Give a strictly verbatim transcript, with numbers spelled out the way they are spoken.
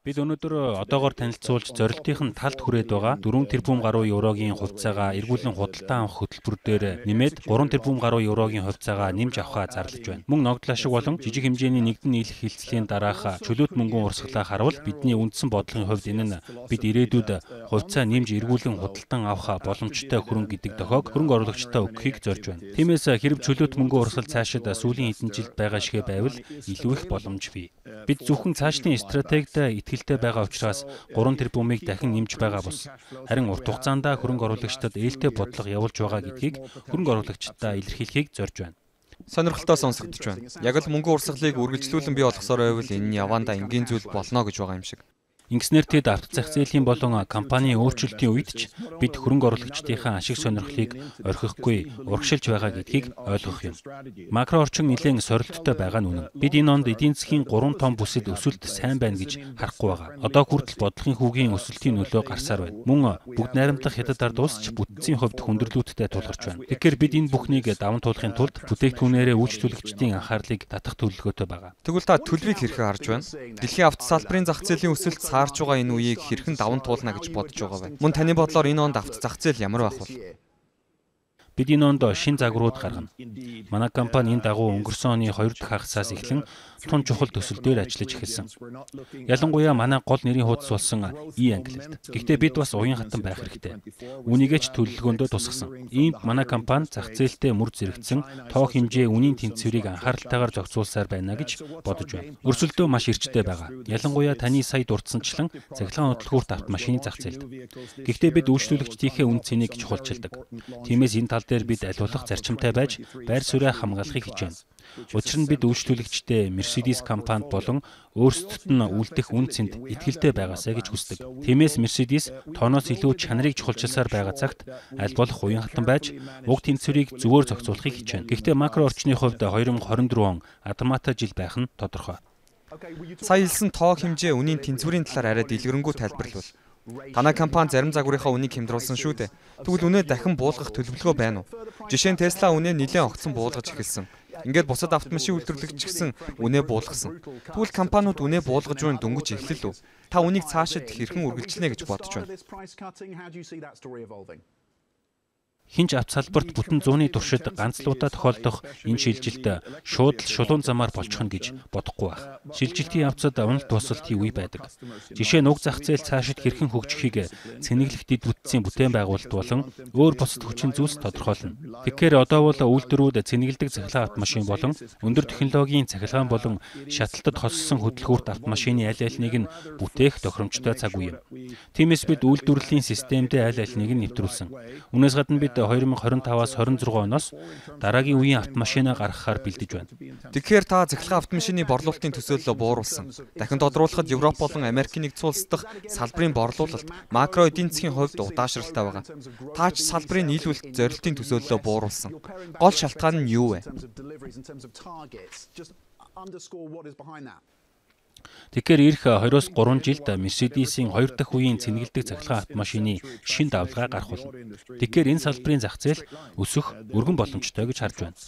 Бид өнөөдөр одоогоор танилцуулж зорилтын талд хүрээд байгаа дөрвөн тэрбум гаруй еврогийн хувьцаагаа эргүүлэн худалдан авах хөтөлбөр дээр нэмээд гурван тэрбум гаруй еврогийн хувьцаагаа нэмж авахаа зарлаж байна. Мөн ногдол ашиг болон жижиг хэмжээний нэгдэн нийлэх хилцлийн дараах чөлөөт мөнгөн урсгалаа харуул бидний үндсэн бодлогын хувьд энэ нь бид ирээдүйд хувьцаа нэмж эргүүлэн худалдан авах боломжтой хөрөнгө гэдэг дохиог хөрөнгө оруулагчдаа өгөхийг зорж байна. Тиймээс хэрэв чөлөөт мөнгөн урсгал цаашид сүүлийн хэдэн жилд байгаа шигэ байвал илүү их боломж бий. Бид зөвхөн цаашдын стратегид итгэлтэй байгаа учраас гурван тэрбумыг дахин нэмж байгаа бус. Харин урт хугацаанд хөрөнгө оруулагчдад ээлтэй бодлого явуулж байгаа гэдгийг хөрөнгө оруулагчдаа илэрхийлэхийг зорж байна. Сонирхолтой сонсогдож байна. Яг л мөнгө урсгалыг үргэлжлүүлэн бий болгосоор байвал энэ нь явандаа энгийн зүйл болно гэж байгаа юм шиг. Ингэснээр тэд авто зах зээлийн болон компани өөрчлөлтийн үед ч бид хөрөнгө оруулагчдынхаа ашиг сонирхлыг орхихгүй урагшилж байгаа гэдгийг ойлгох юм. Макро орчин нэлээд сорилттой байгаа нь үнэн. Бид энэ онд эдийн засгийн гурван том бүсэд өсөлт сайн байна гэж харахгүй байгаа. Одоо хүртэл бодлогын хүүгийн өсөлтийн нөлөө гарсаар байна. Мөн бүгд найрамдах хятад ард улс ч бүтцийн хувьд хүндрэлүүдтэй тулгарч байна. Тэгэхээр бид энэ бүхнийг даван туулахын тулд бүтээгдэхүүнээрээ үйлчлүүлэгчдийн анхаарлыг татах төлөвлөгөөтэй байгаа. Тэгвэл та төлөвийг хэрхэн харж байна? Дэлхийн авто салбарын зах зээлийн өсөлт харж байгаа энэ үеийг хэрхэн даван туулна гэж бодож байгаа вэ? Мөн таны бодлоор энэ онд авто зах зээл ямар байх вэ? Бид энэ онд шин загварууд гаргана. Манай компани энэ дагуу өнгөрсөн оны хоёр дахь хагасаас эхлэн тун чухал төсөл дээр ажиллаж эхэлсэн. Ялангуяа манай гол нэрийн хуудас болсон e-ангилалд. Гэхдээ бид бас уян хатан байх хэрэгтэй. Үүнийгээ ч төлөвлөгөөндөө тусгасан. Иймд манай компани зах зээлтэй мөр зэрэгцэн тоо хэмжээ үнийн тэнцвэрийг анхааралтайгаар зохицуулсаар байна гэж бодож байна. Өрсөлдөө маш эрчтэй байгаа. Ялангуяа таны сая дурдсанчлан цахилгаан хөдөлгүүрт автомашины зах зээлд. Гэхдээ бид үйлчлүүлэгчдийнхээ үн цэнийг чухалчилдаг. Тиймээс энэ тал дээр бид аль болох зарчимтай байж байр сууриа хамгаалахыг хичээнэ. Учир нь бид үйлчлүүлэгчдээ Mercedes компанид болон өөрсдөд нь үлдэх үн цэнд итгэлтэй байгаасаа гэж хүсдэг. Тиймээс Mercedes тооноос илүү чанарыг чухалчилсаар байгаа цагт аль болох уян хатан байж уг тэнцвэрийг зөвөр зохицуулахыг хичээнэ. Гэхдээ макро орчны хувьд хоёр мың хорин дөрвөн он Адмата жил байх нь тодорхой. Сая хэлсэн тоо хэмжээ үнийн тэнцвэрийн талаар арай дэлгэрэнгүй тайлбарлавал. Танай компани зарим загварынхаа үнийг хямдруулсан шүү дээ. Тэгвэл үнэ дахин буулгах төлөвлөгөө байна уу? Жишээ нь Tesla үнэ нэлээд огцон буулгаж эхэлсэн. Ингээд бусад автомашин үйлдвэрлэгч гэсэн үнэ буулгасан. Тэгвэл компаниуд үнэ буулгаж буй дөнгөж эхлэл үү? Та үнийг цаашид хэрхэн үргэлжлэнэ гэж бодож байна? Хинч авто салбарт бүтэн зууны туршид ганцлуудаа тохиолдох энэ шилжилт шууд л шулуун замаар болчих нь гэж бодохгүй байх. Шилжилтийн явцад уналт тусалтын үе байдаг. Жишээ нь уг зах зээл цаашид хэрхэн хөгжихийг цэнэглэх дэд бүтцийн бүтээн байгуулалт болон өөр бусад хүчин зүйлс тодорхойлно. Тэгэхээр одоо бол үйлдвэрүүд цэнэглэдэг цахилгаан автомашин болон өндөр технологийн цахилгаан болон шаталтад хоссон хөдөлгүүрт автомашины аль альнийг нь бүтээх тохиромжтой цаг үе юм. Тиймээс бид үйлдвэрлэлийн системдээ аль альнийг нь нэвтрүүлсэн. Үүнээс гадна бид хоёр мың хорин таваас хорин зургаан оноос дараагийн үеийн автомашинаа гаргахаар бэлдэж байна. Тэгэхээр та цахилгаан автомашины борлуулалтын төсөөллөө бууруулсан. Дахин тодруулахад Европ болон Америкийн нэгдсэн улс дахь салбарын борлуулалт макро эдийн засгийн хувьд удаашралтай байгаа. Та ч салбарын нийлүүлэлт зорилтын төсөөллөө бууруулсан. Гол шалтгаан нь юу вэ? Тэгэхээр эх хоёроос гурван жилд Mercedes-ийн хоёр дахь үеийн цэнэглэдэг цахилгаан автомашины шин давлгаа гарах болно. Тэгэхээр энэ салбарын зах зээл өсөх өргөн боломжтой гэж харж байна.